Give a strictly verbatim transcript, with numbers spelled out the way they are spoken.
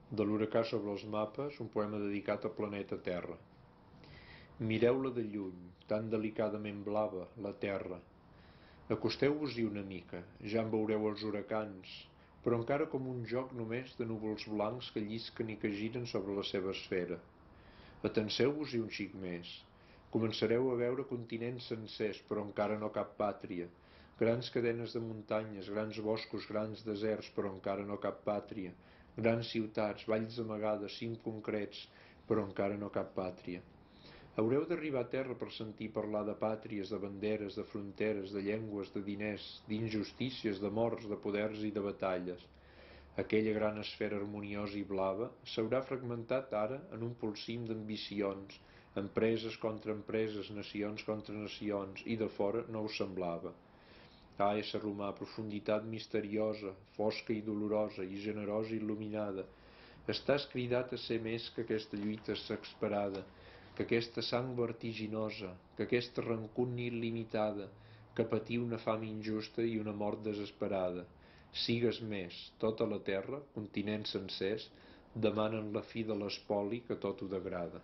De l'huracà sobre els mapes, un poema dedicat al planeta Terra. Mireu-la de lluny, tan delicadament blava, la Terra. Acosteu-vos-hi una mica, ja en veureu els huracans, però encara com un joc només de núvols blancs que llisquen i que giren sobre la seva esfera. Atenseu-vos-hi un xic més. Començareu a veure continents sencers, però encara no cap pàtria. Grans cadenes de muntanyes, grans boscos, grans deserts, però encara no cap pàtria. Grans ciutats, valls amagades, cims concrets, però encara no cap pàtria. Haureu d'arribar a terra per sentir parlar de pàtries, de banderes, de fronteres, de llengües, de diners, d'injustícies, de morts, de poders i de batalles. Aquella gran esfera harmoniosa i blava s'haurà fragmentat ara en un polsim d'ambicions, empreses contra empreses, nacions contra nacions, i de fora no us semblava. Ah, ésser humà, profunditat misteriosa, fosca i dolorosa, i generosa i il·luminada, estàs cridat a ser més que aquesta lluita exasperada, que aquesta sang vertiginosa, que aquesta rancúnia il·limitada, que patir una fam injusta i una mort desesperada. Sigues més, tota la terra, continents sencers, demanen la fi de l'espoli que tot ho degrada.